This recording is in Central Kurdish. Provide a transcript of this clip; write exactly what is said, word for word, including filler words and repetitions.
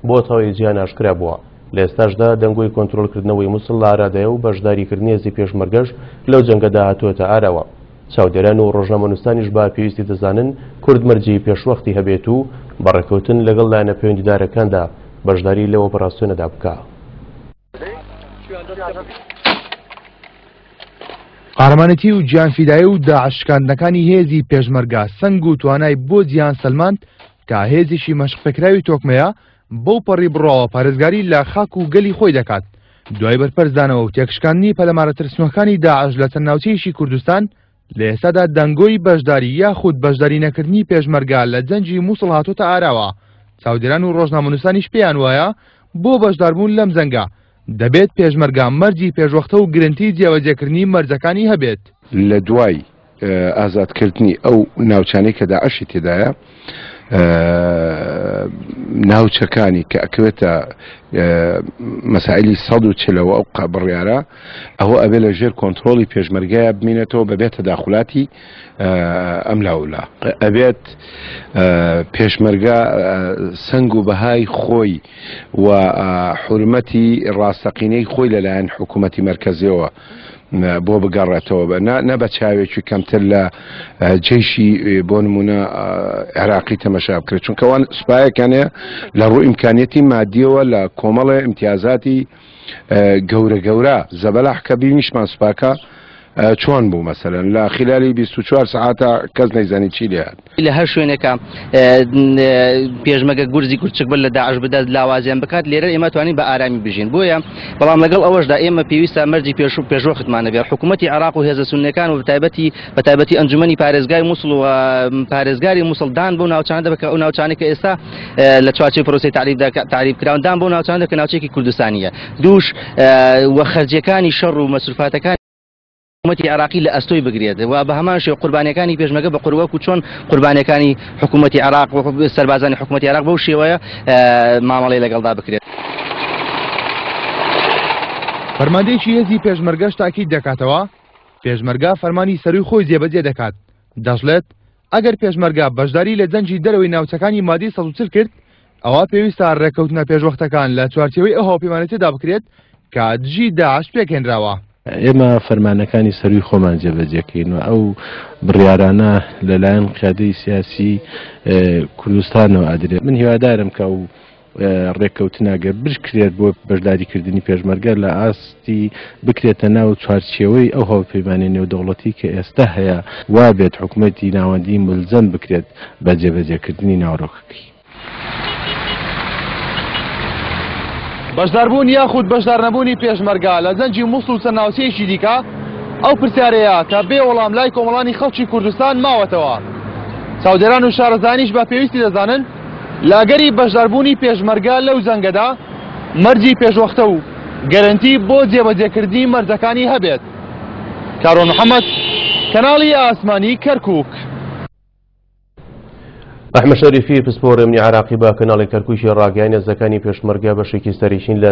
بۆ تەواوی جیهان ئاشکرا بووە. لە ئێستاشدا دەنگۆی کۆنترۆڵکردنەوەی موسڵ لە ئارادایە و بەشداریکردنی هێزی پێشمەرگەش لەو جەنگەدا هاتووەتە ئاراوە. چاودێران و ڕۆژنامەنووسانیش بە پێویستی دەزانن کورد مەرجی پێشوەختی هەبێت و بەڕێکەوتن لەگەڵ لایەنە پەیوەندیدارەکاندا بەشداری لەو ئۆپەراسیۆنەدا بکا. قارەمانێتی و گیانفیدایی و داعش شکاندنەکانی هێزی پێشمەرگە سەنگ و توانای بۆ جیهان سەلماند کە هێزێکی مەشقپێکراوی تۆکمەیە بەو پەڕی بڕاوە پارێزگاری لە خاک و گەلی خۆی دەکات. دوای بەرپەرچدانەوە و تێکشکاندنی پەلەمارە ترسنۆکانی داعش لە چەند ناوچەیەکی کوردستان، لە ئێستادا دەنگۆی بەشداری یاخود بەشداری نەکردنی پێشمەرگە لە جەنگی موسڵ هاتۆتە ئاراوە. چاودێران و ڕۆژنامەنووسانیش پێیان وایە بۆ بەشداربوون لەم جەنگە دەبێت پێشمەرگە مەرجی پێشوەختە و گرنتی جێبەجێکردنی مەرجەکانی هەبێت. لە دوای ئازادکردنی ئەو ناوچانەی کە داعشی تێدایە، ناوچەکانی کە ئەکەوێتە مەسائلی سەد و چلەوە ئەو بڕیارە، ئەوە ئەبێ لە ژێر کۆنترۆڵی پێشمەرگەیە بمینێتەوە بەبێتە داخلاتی ئەم لاولا. ئەبێت پێشمەرگە سەنگ و بەهای خۆی و حورمەتی ڕاستەقینەی خۆی لەلایەن حکوومەتی مەرکەزیەوە بۆ بگەڕێتەوە، نە بە چاوێکی کەمتر لە جەیشی بۆ نمونە عێراقی تەمەشا بکرێت، چونکە ئەوان سوپایەکانەیە لە ڕوو ئیمکانیەتی مادیەوە لە کۆمەڵێ ئیمتیازاتی گەورە گەورە زەبەلاح کە بینیشمان سوپاکە چۆن بوو، مەسەلەن لە خلالی بیست و چوار سەعاتە کەس نەیزانی چی لێهات. لە هەر شوێنێکە پێشمەرگە گورزی کورچک بەر لە داعش بدات لاوازیان بکات، لێرە ئێمە توانین بە ئارامی بژین. بۆیە بەڵام لەگەڵ ئەوەشدا ئێمە پێویستە مەرجی پێش پێشوەختمان هەبێت. حکوومەتی عێراق و هێزە سوننەکان و بەتایبەتی بەتایبەتی ئەنجومەنی پارێزگای موسڵ و پارێزگاری موسڵ دان بۆ ناوچانە دەبێت کە ئەو ناوچانەی کە ئێستا لە چوارچێوەی پرۆسەی تەعریبدا تەعریب کراون دان بۆ ناوچانە کە ناوچەیەکی کوردستانیە. دووش وە خەرجیەکانی شەڕ و مەسروفاتەکانی حکوومەتی عێراقی لە ئەستۆی بگرێت و بە هەمان شێوە قوربانیەکانی پێشمەرگە بە قوروەک و چۆن قوربانیەکانی حکوومەتی عێراق و سەربازانی حکوومەتی عێراق بەو شێوەیە مامەڵەی لەگەڵدا بکرێت. فەرماندەیەکی هێزی پێشمەرگەش تاکید دەکاتەوە پێشمەرگە فەرمانی سەروی خۆی جێبەجێ دەکات. دەشڵێت ئەگەر پێشمەرگە بەشداری لە جەنگی دەرەوەی ناوچەکانی مادەی سەد و چل کرد، ئەوە پێویستە ڕێککەوتنە پێشوەختەکان لە چوارچێوەی ئەو هاوپەیمانێتیدا بکرێت کە دژی داعش پێکهێنراوە. ئێمە فەرمانەکانی سەروی خۆمان جێبەجێکەین و ئەو بڕیارانە لەلایەن قیادەی سیاسی کوردستانەوە ئەدرێت. من هیوادارم کە ئەو ڕێککەوتنە ئەگەر بشکرێت بۆ بەشداریکردنی پێشمەرگە لە ئاستی بکرێتە ناو چوارچێوەی ئەو هاوپەیمانیە نێودەوڵەتی کە ئێستا هەیە، وا بێت حکوومەتی ناوەندی ملزەم بکرێت بە جێبەجێکردنی ناوەڕۆکەکەی. بەشداربوون یاخود بەشدارنەبوونی پێشمەرگە لە جەنگی موسڵ و چەند ناوچەیەکی دیکە ئەو پرسیارەیە کە بێ وەڵام لای کۆمەڵانی خەڵکی کوردستان ماوەتەوە. چاودێران و شارەزانیش بە پێویستی دەزانن لە ئەگەری بەشداربوونی پێشمەرگە لەو جەنگەدا مەرجی پێشوەختە و گەرەنتی بۆ جێبەجێکردنی مەرجەکانی هەبێت. کارۆن محەممەد، کەناڵی ئاسمانی کەرکووک. ئەحمەد شەریفی پسپۆڕ ئەمنی عێراقی بە کەناڵی کەرکووکی ڕاگەیاند هێزەکانی پێشمەرگە بەشێکی سەرەکین لە